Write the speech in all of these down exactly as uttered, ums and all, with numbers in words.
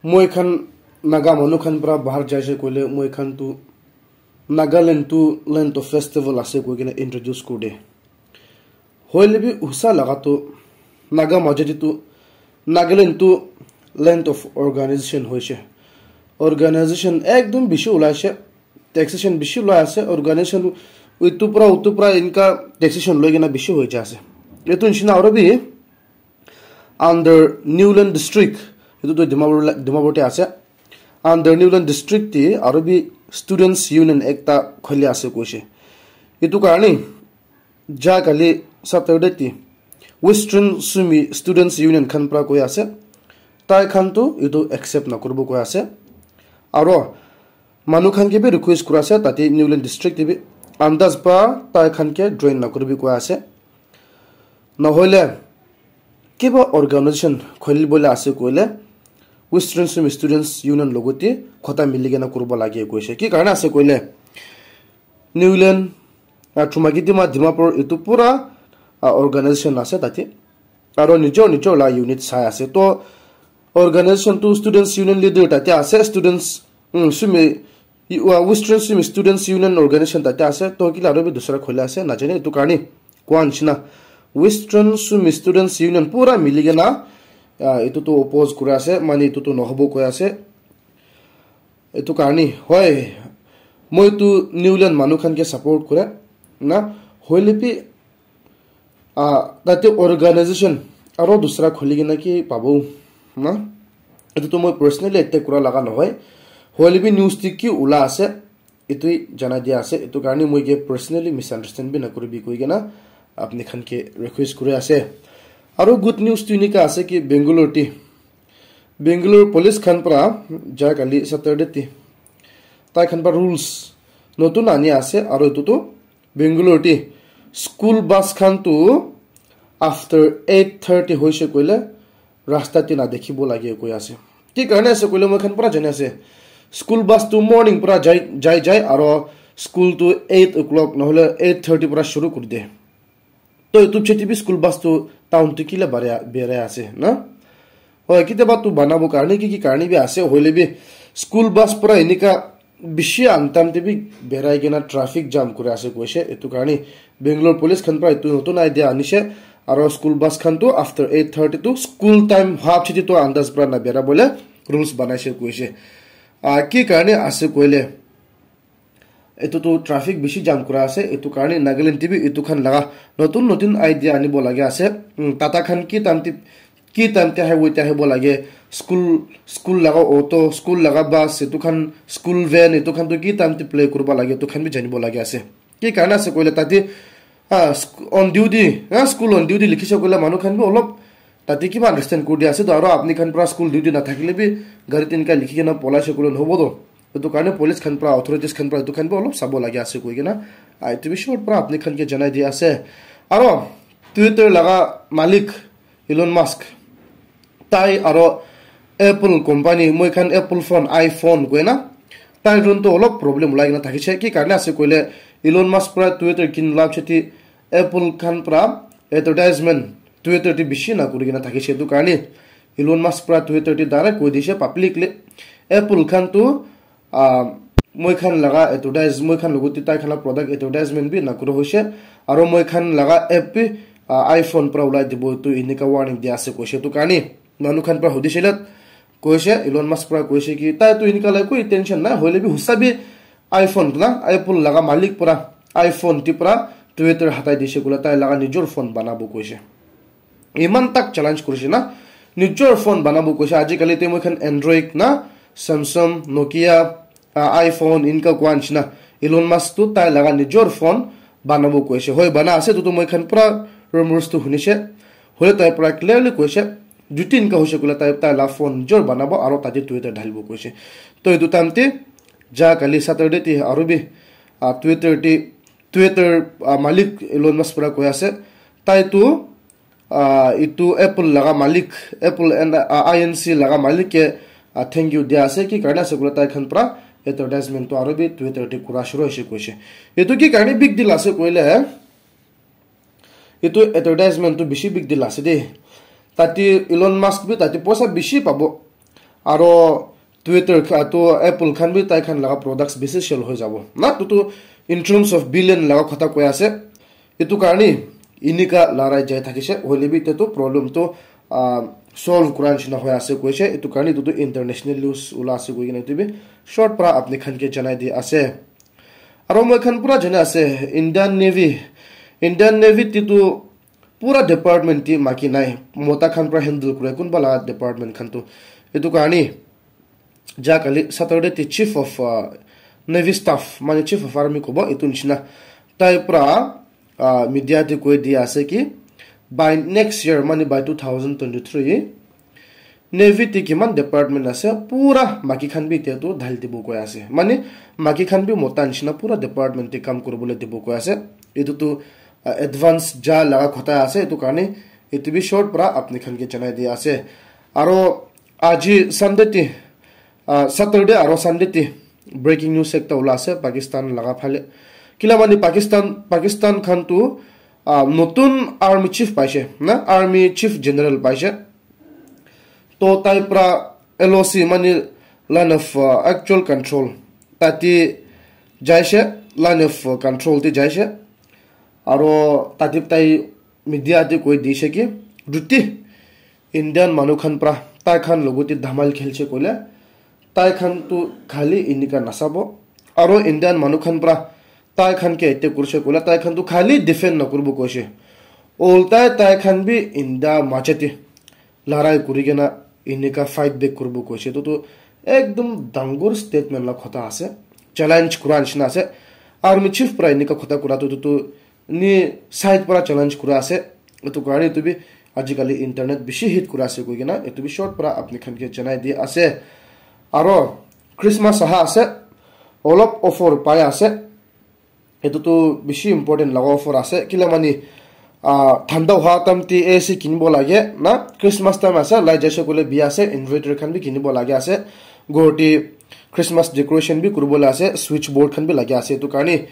Moi khan Naga manu khan pra bahar jaise koile moi khan tu Nagaland tu land of festival ase koi kena introduce kuri de. Hoile bi usa laga tu Naga majadi tu Nagaland tu land of organization hoise. Organization ekdom bishi ulaise, taxation bishi loi ase, organization itu pra utu pra inka taxation loi kena bishi hoi jai ase. Itu nishina aru bi under Newland district, itu tu Dimapur la- Dimapur te ase. Under Newland district te aru bi students union ekta khuli ase koise. Itu karne ja kali Saturday te Western Sumi Students Union khan pra koi ase, tai khan tu itu accept nakuribo koi ase. Aro manu khan ke bi request kura ase tate Newland district te bi andas pra tai khan ke join nakuribi koi ase. Nohoile kiba organization khulibole ase koile Western Sumi Students Union logote khota mili kena kuribo lage koise. Ki karne ase koile Newland, ah, Chumakidima, Dimapur itu pura, ah, organization ase tate. Aro nijor nijor la unit sai ase. To organization tu students union leader tate ase, students, mm, Sumi, uh, Western Sumi Students Union organization tate ase. To kila aru bi dusra khuli ase, najane itu karne koa nishina. Western Sumi Students Union pura mili kena, ah, itu tu oppose kuri ase, mane itu tu nohobo koi ase. Etu karne, hoi, moi tu Newland manu khan ke support kore na, hoile bi, ah, tate organization aro dusra khuli kena ki pabo na. Etu tu moi personally attack kura laga nohoi, hoile bi news te ki ula ase, etu jana dia ase. Etu karne moi ke personally misunderstand bi nakuribi koi kena apni khan ke request kuri ase. Aro good news tu enika ase ki Bangalore te Bangalore police khan pra ja kali Saturday te tai khan pra rules notun ani ase, aro etu tu Bangalore te school bus khan tu after eight thirty hoise koile rasta te na dekhibo lage koi ase. Ki karne ase koile moi khan pra jani ase, school bus tu morning pra jai jai jai aro school tu eight o'clock nohole eight thirty pra shuru kuri de. To etu cheti bi school bus tu town tu kila bare berai ase na? Hoi, kitiaba tu banabo karne ki ki karne bi ase, hoile bi school bus pura enika bishi antam te bi berai kena traffic jam kuri ase koise. Etu karne Bangalore police khan pra etu notun idea anise, aro school bus khan tu after eight thirty tu school time half cheti tu andas pra na bera bole rules banaise koise. Ah, ki karne ase koile etu tu traffic bishi jam kura ase, etu karne Nagaland te bi etu khan laga notun notun idea anibo lage ase. Mm, Tata khan ki time te, ki time te highway te ahibo lage, school, school laga auto, school laga bus, etu khan school van, etu khan tu ki time te play kuriba lage, etu khan bi janibo lage ase. Ki karne ase koile tate, ah, sc- on duty, ah, school on duty likhise koile manu khan bi olop tate kiba understand kuri dia ase to, aro apni khan pra school duty na thakile bi gari tinka likhi kena polai se koile nohobo to. Etu karne police khan pra, authorities khan pra etu khan bi olop sabo lage ase koi kena, ah, etu bi short pra apni khan ke janai dia ase. Aro Twitter laga malik Elon Musk, tai aro Apple company, moi khan Apple phone, iPhone koi na, tai ron to olop problem ulai kena thakise. Ki karne ase koile Elon Musk pra Twitter kin lab cheti Apple khan pra advertisement Twitter te bishi na kuri kena thakise. Etu karne Elon Musk pra Twitter te direct koi dise publicly, Apple khan tu, ah, moi khan laga advertise, moi khan logot te tai khan la product advertisement bi na kura hoise, aro moi khan laga app bi, ah, iPhone pra ulai dibo, etu enika warning dia ase koise. Etu karne manu khan pra hudisile koise, Elon Musk pra koise ki tai tu enika la koi intention nai, hoile bi hosa bi iPhone na, Apple laga malik pra iPhone te pra Twitter hatai dise koile tai laga nijor phone banabo koise. Iman tak challenge kurise na, nijor phone banabo koise. Ajikali te moi khan Android na, Samsung, Nokia, ah, iPhone, inka kua nishina Elon Musk tu tai laga nijor phone banabo koise. Hoi, bana ase, tu tu moi khan pura rumors tu hunise. Hole tai pura clearly koise, juti inka hoise koile tai, tai la phone nijor banabo aro tate Twitter dhalibo koise. To etu time te, ja kali Saturday te aru bi, ah, Twitter te, Twitter, ah, malik Elon Musk pura koi ase, tai tu, ah, itu Apple laga malik, Apple and, ah, I N C laga malik ke, ah, thank you dia ase, ki karne ase koile tai khan pra advertisement tu aru bi Twitter te kura shuru hoise koise. Itu ki karne big deal ase koile, itu advertisement tu bishi big deal ase de. Tate Elon Musk bi tate poisa bishi pabo. Aro Twitter kha-, to Apple khan bi tai khan laga products bishi sell hoi jabo. Na, to, to in terms of billion laga kotha koi ase. Etu karne inika larai jai thakise. Hoile bi etu to problem to, ah, solve kura nishina hoi ase koise. Etu karne etu to international news ula ase koi kena etu bi short para apni khan ke janai di ase. Aro moi khan pura jana ase, Indian Navy, Indian Navy ti tu pura department ti maki nai, mota khan pura handle kure, kunba laga department khan tu. Etu karne, ja kali Saturday ti chief of, uh, Navy staff, mane chief of army kobo, etu nishina. Tai pura, uh, media ti koi dia ase ki, by next year, mane by two thousand twenty-three, Navy te kiman department ase, pura maki khan bi etia tu dhali dibo koi ase. Mane, maki khan bi mota nishina pura department te kam kuribole dibo koi ase. Etu tu, uh, advance ja laga kotha ase, etu karne, etu bi short para apni khan ke janai dia ase. Aro aji Sunday te, uh, Saturday aro Sunday te breaking news ekta ula ase Pakistan laga phale. Kila mane Pakistan, Pakistan khan tu, uh, notun army chief paise, na? Army chief general paise. To tai pra L O C, mane line of, uh, actual control, tati jaise, line of, uh, control te jaise. Aro tati tai media te koi dise ki, ruti Indian manu khan pra tai khan logote dhamal khelche koile, tai khan tu khali inika nasabo. Aro Indian manu khan pra tai khan ke ete kurse koile, tai khan tu khali defend na kurbo koise. Oltai tai khan bi India majete larai kuri kena inika fight back kuribo koise. Etu tu ekdum dangor statement la kotha ase. Challenge kura nishina ase. Army chief pra inika kotha kura tu, tu, tu ni side pra challenge kura ase. Etu karne etu bi ajikali internet bishi hit kura ase koi kena etu bi short pra apni khan ke janai di ase. Aro Christmas aha ase. Olop offer pai ase. Etu tu bishi important laga offer ase. Kila mani, ah, thanda hoa time te A C kinibo lage na. Christmas time ase, lai jaise koile biya ase, inverter khan bi kinibo lage ase. Ghor te Christmas decoration bi kuribo la ase, switch board khan bi lage ase. Etu karne,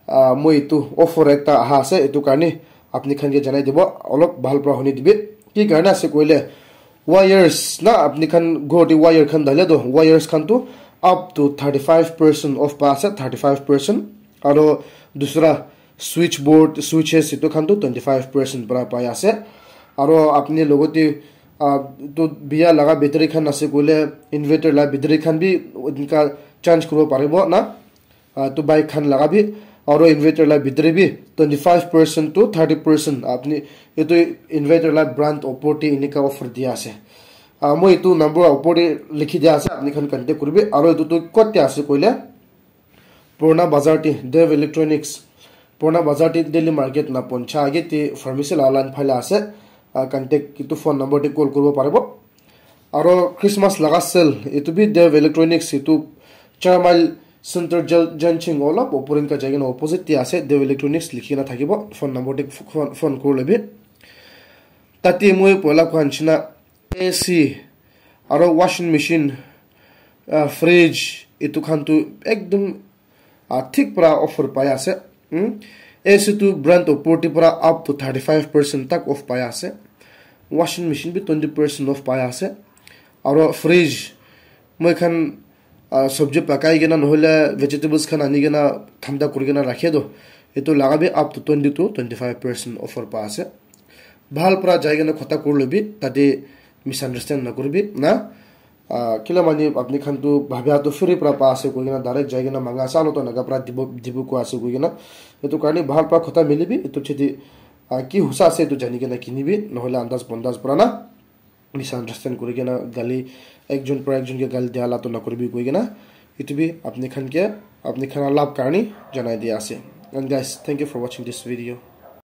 ah, moi etu offer ekta aha ase, etu karne apni khan ke janai dibo, olop bhal pra huni dibi. Ki karne ase koile, wires na, apni khan ghor te wire khan dale to, wires khan tu up to thirty five percent off pa ase, thirty five percent. Aro dusra switch board, switches, etu khan tu twenty five percent pra pai ase. Aro apni logote, ah, tu biya laga battery khan ase koile, inverter la battery khan bi enka change kuribo paribo na. Ah, tu bike khan laga bi, aro inverter la battery bi twenty five percent to thirty percent apni etu inverter la brand opor te enika offer dia ase. Ah, moi etu number opor te likhi dia ase, apni khan contact kuribi. Aro etu tu kot te ase koile, Purana Bazar te, Dev Electronics, Purana Bazar te Daily Market na poncha age te pharmacy la line phale ase. Ah, contact etu phone number te call kuribo paribo. Aro Christmas laga sale, etu bi Dev Electronics, etu char mile center jal-, janching olop opor enka jai kena opposite te ase, Dev Electronics likhi kena thakibo, phone number te phone, phone kuri lebi. Tate moi poila koa nishina A C, aro washing machine, ah, fridge, etu khan tu ekdum ah, thik para offer pai ase. Hmm? A C tu brand opor te para up to thirty five percent tak off pai ase. Washing machine bi twenty percent off pai ase. Aro fridge, moi khan, ah, sabji pakai kena nohole vegetables khan ani kena thanda kuri kena rakhe to, etu laga bi up to twenty to twenty five percent offer pai ase. Bhal para jai kena khota kuri lobi, tate misunderstand na kuribi na. Ah, kila mani apni khan tu bhabya tu free pra pa ase koi kena direct jai kena manga sa lo to naga pra dibo, dibo ko ase koi kena. Etu karne bhal pra khota mili bi, etu chidi, ah, ki husa ase etu jani kena kini bi, nohole andas bondas pra na misunderstand kuri kena gali, ekjon pra ekjon ke gali dia la to na kuri bi koi kena. Etu bi apni khan ke, apni khan la lab karne janai dia ase. And guys, thank you for watching this video.